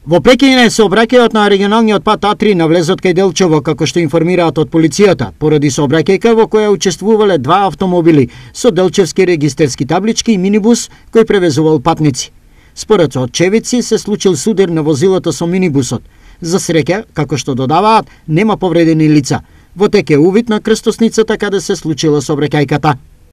Во прекине сообраќајот на регионалниот пат А3 на влезот кај Делчево, како што информираат од полицијата, поради сообраќајка во која учествувале два автомобили со делчевски регистерски таблички и минибус кој превезувал патници. Според очевидци се случил судир на возилото со минибусот. За среќа, како што додаваат, нема повредени лица. Во тек е увид на крстосницата каде се случила сообраќајката.